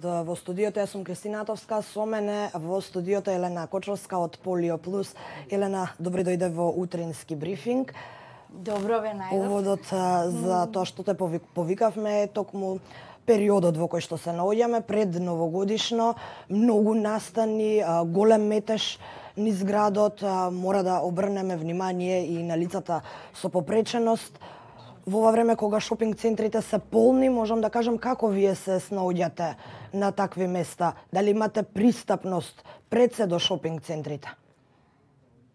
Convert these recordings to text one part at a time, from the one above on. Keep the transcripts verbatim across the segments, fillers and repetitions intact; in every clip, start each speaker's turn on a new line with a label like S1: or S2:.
S1: во студиото јас сум Кристина Атовска, со мене во студиото Елена Кочовска од Полио Плюс. Елена, добре дојде во утрински брифинг.
S2: Добро ве најдов.
S1: Поводот за тоа што те повикавме е токму периодот во кој што се наоѓаме пред новогодишно, многу настани, голем метеж низ градот, мора да обрнеме внимание и на лицата со попреченост. Во ова време кога шопинг центрите се полни, можам да кажам како вие се снаоѓате на такви места? Дали имате пристапност пред се до шопинг центрите?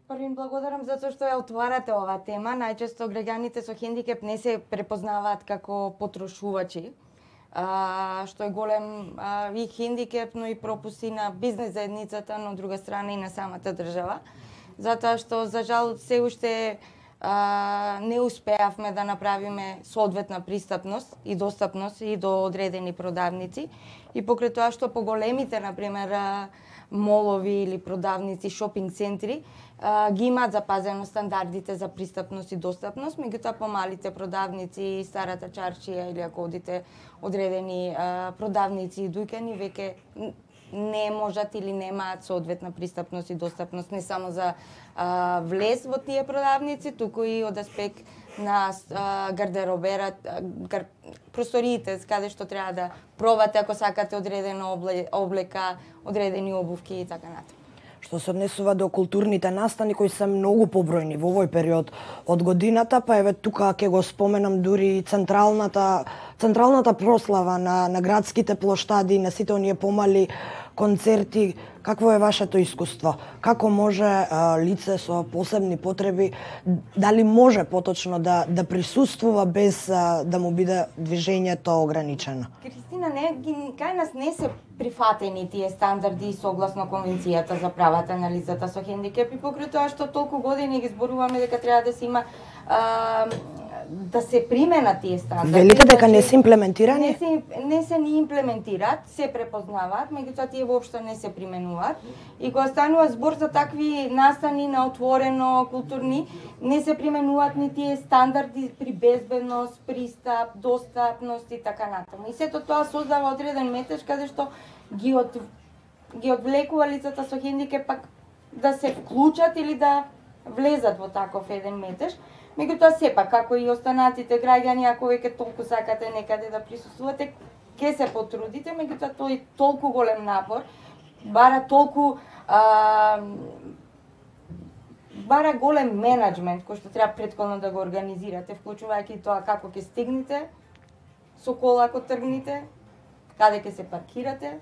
S2: Првим благодарам за тоа што ја отварате оваа тема. Најчесто граѓаните со хендикеп не се препознаваат како потрошувачи, а, што е голем а, и хендикеп, но и пропусти на бизнес заедницата, но од друга страна и на самата држава. Затоа што за жал се уште Uh, не успеавме да направиме соодветна пристапност и достапност и до одредени продавници. И покрај тоа што по големите, например, молови или продавници, шопинг центри, uh, ги имаат запазено стандардите за пристапност и достапност, меѓутоа по малите продавници, старата чаршија или ако одите одредени uh, продавници и дуќани, веќе не можат или немаат соодветна пристапност и достапност не само за а, влез во тие продавници, туку и од аспект на а, гардероберат, гар... просториите каде што треба да пробате ако сакате одредена облека, одредени обувки и така натаму.
S1: Што се однесува до културните настани кои се многу побројни во овој период од годината, па еве тука ќе го споменам дури централната централната прослава на на градските плоштади, на сите оние помали концерти. Какво е вашето искуство? Како може а, лице со посебни потреби, дали може поточно да да присуствува без а, да му биде движењето ограничено?
S2: Кристина, не, кај нас не се прифатени тие стандарди согласно Конвенцијата за правата на лицата со хендикеп и покрај тоа што толку години ги зборуваме дека треба да се има а, да се применат тие стандарди.
S1: Велите дека не се имплементирани?
S2: Не се, не се ни имплементираат, се препознаваат, меѓутоа тие воопшто не се применуваат. И кога станува збор за такви настани на отворено, културни, не се применуваат ни тие стандарди при безбедност, пристап, достапност и така натаму. И сето тоа создава одреден метеж каде што ги од ги одвлекува лицата со хендикеп пак да се вклучат или да влезат во таков еден метеж. Меѓутоа сепак, како и останатите граѓани, ако веќе толку сакате некаде да присуствувате, ќе се потрудите, меѓутоа тој толку голем напор, бара толку а, бара голем менеджмент кој што треба претходно да го организирате, вклучувајќи тоа како ќе стигнете со кола ако тргнете, каде ќе се паркирате,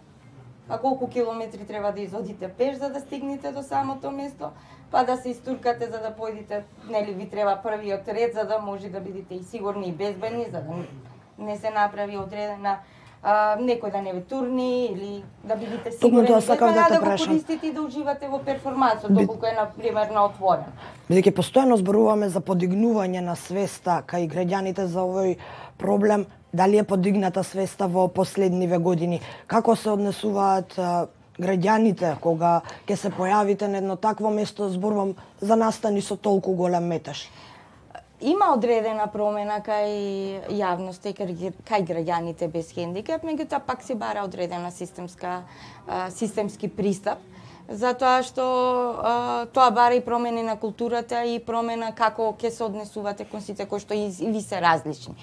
S2: а колку километри треба да изодите пеш за да стигнете до самото место, па да се истуркате за да појдете, нели ви треба првиот ред за да може да бидете и сигурни и безбедни, за да не се направи одредена а, некој да не ве турни или да бидете сигурни
S1: да, да,
S2: да го користите и да уживате во перформансот, доколку е на пример на отворено.
S1: Бидејќи постојано зборуваме за подигнување на свеста кај граѓаните за овој проблем, дали е подигната свеста во последниве години? Како се однесуваат а, граѓаните кога ќе се појавите на едно такво место, зборувам за настани со толку голем метеж?
S2: Има одредена промена кај јавноста и кај граѓаните без хендикеп, меѓутоа пак се бара одредена системска а, системски пристап, затоа што а, тоа бара и промени на културата и промена како ќе се однесувате кон сите кои што и, и ви се различни.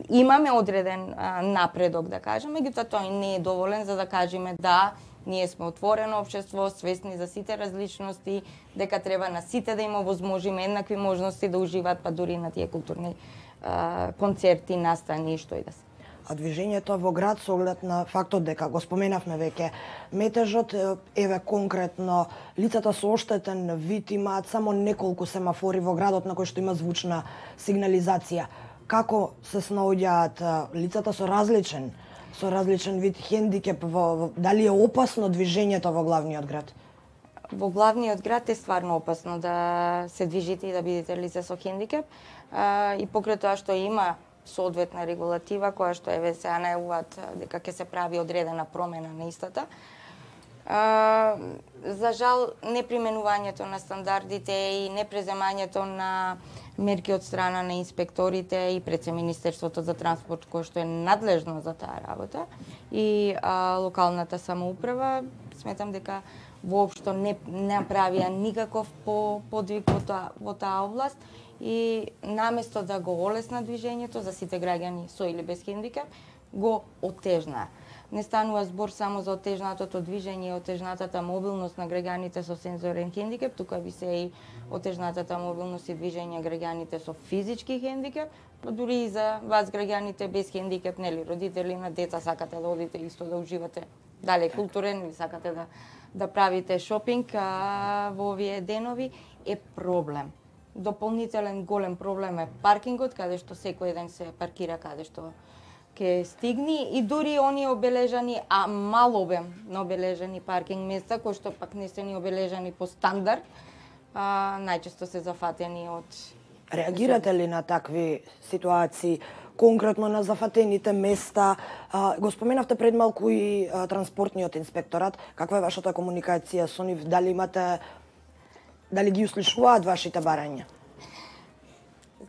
S2: Имаме одреден а, напредок, да кажеме, меѓутоа тој не е доволен за да кажеме да ние сме отворено општество, свесни за сите различности, дека треба на сите да има возможиме еднакви можности да уживаат па дури на тие културни а, концерти, настани и што и да се.
S1: А движењето во град со оглед на фактот дека го споменавме веќе метежот, еве конкретно лицата со оштетен вид имаат само неколку семафори во градот на кои што има звучна сигнализација. Како се снаоѓаат лицата со различен со различен вид хендикеп, во, во, дали е опасно движењето во главниот град?
S2: Во главниот град е стварно опасно да се движите и да бидете лице со хендикеп, а, и покрај тоа што има соодветна регулатива која што еве се најавуваат дека ќе се прави одредена промена на истата. А, за жал, неприменувањето на стандардите и непреземањето на мерки од страна на инспекторите и пред се Министерството за транспорт, кој што е надлежно за таа работа, и а, локалната самоуправа, сметам дека воопшто не направија никаков по подвиг во таа во таа област и наместо да го олесна движењето за сите граѓани со или без хендикеп, го отежнаа. Не станува збор само за отежнатото движење и отежнатата мобилност на граѓаните со сензорен хендикеп, тука би се и отежнатата мобилност и движење граѓаните со физички хендикеп, па дури и за вас граѓаните без хендикеп, нели, родители на деца, сакате да одите исто да уживате, дали културен или сакате да да правите шопинг а, во овие денови, е проблем. Дополнителен голем проблем е паркингот, каде што секој ден се паркира каде што ќе стигни, и дури оние обележани, а мал обем на обележани паркинг места, кои што пак не се ни обележани по стандард, а, најчесто се зафатени од...
S1: Реагирате ли на такви ситуации, конкретно на зафатените места? А, го споменавте пред малку и а, транспортниот инспекторат. Каква е вашата комуникација со нив? Дали имате, дали ги услушуваат вашите барања?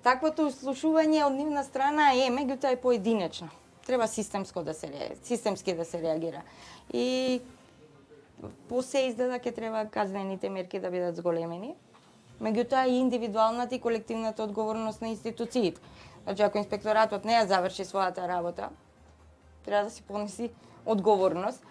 S2: Таквото услушување од нивна страна е, меѓутоа е поединечно. Треба системско да се системски да се реагира. И по се изгледа ќе треба казнените мерки да бидат зголемени. Меѓутоа и индивидуалната и колективната одговорност на институциите. Значи, ако инспекторатот не ја заврши својата работа, треба да си понеси одговорност.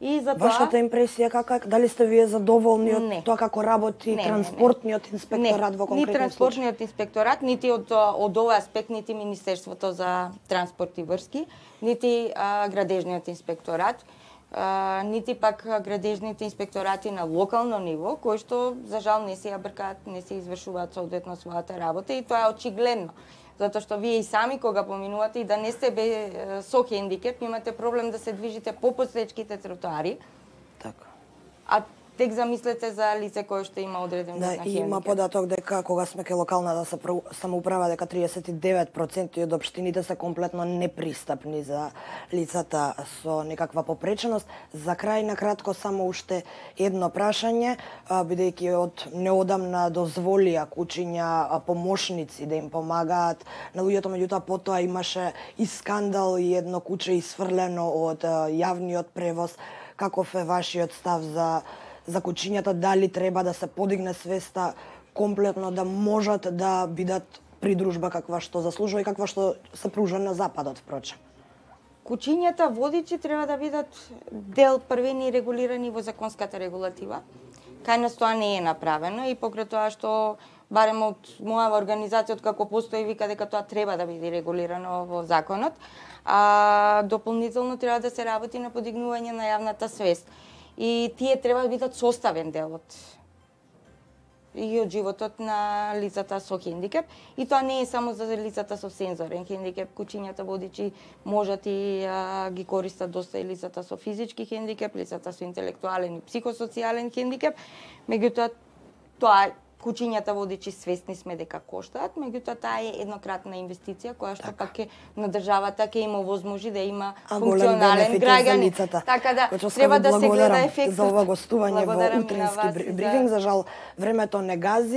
S2: И за тоа...
S1: Вашата импресија кака, дали сте вие задоволни од
S2: не.
S1: тоа како работи
S2: не,
S1: транспортниот не, не. инспекторат
S2: не.
S1: во конкретен
S2: случај? Ни транспортниот инспекторат, нити од од овој аспект, нити Министерството за транспорт и врски, нити а, градежниот инспекторат, а, нити пак градежните инспекторати на локално ниво, кои што за жал не се ја бркаат, не се извршуваат соодветно својата работа, и тоа е очигледно. Затоа што вие и сами кога поминувате и да не сте бе, со хендикеп, имате проблем да се движите по посечките тротоари.
S1: Така.
S2: А тек замислете за лице кое што има одреден
S1: да,
S2: вид на хендикеп.
S1: Има податок дека кога сме ке локалната самоуправа дека триесет и девет проценти од општините се комплетно непристапни за лицата со некаква попреченост. За крај на кратко само уште едно прашање, бидејќи од неодамна дозволија кучиња помошници да им помагаат на луѓето, меѓутоа потоа имаше и скандал и едно куче исфрлено од јавниот превоз. Каков е вашиот став за за кучињата, дали треба да се подигне свеста комплетно да можат да бидат придружба каква што заслужува и каква што се пружа на западот, впрочем?
S2: Кучињата водичи треба да бидат дел првени регулирани во законската регулатива. Кај нас тоа не е направено и покрај тоа што барем од мојава организација, од како постои, вика дека тоа треба да биде регулирано во законот, а дополнително треба да се работи на подигнување на јавната свест. И тие треба да бидат составен дел од и од животот на лицата со хендикеп. И тоа не е само за лицата со сензорен хендикеп. Кучињата водичи можат и а, ги користат доста и лицата со физички хендикеп, лицата со интелектуален и психосоцијален хендикеп. Меѓутоа, тоа кучињата водичи свесни сме дека коштаат, меѓутоа таа е еднократна инвестиција која што така. Пак е на државата ќе има возможи да има а функционален граѓанин. Така да треба да се гледа ефектот.
S1: За ова гостување во утрински брифинг, за жал времето не гази.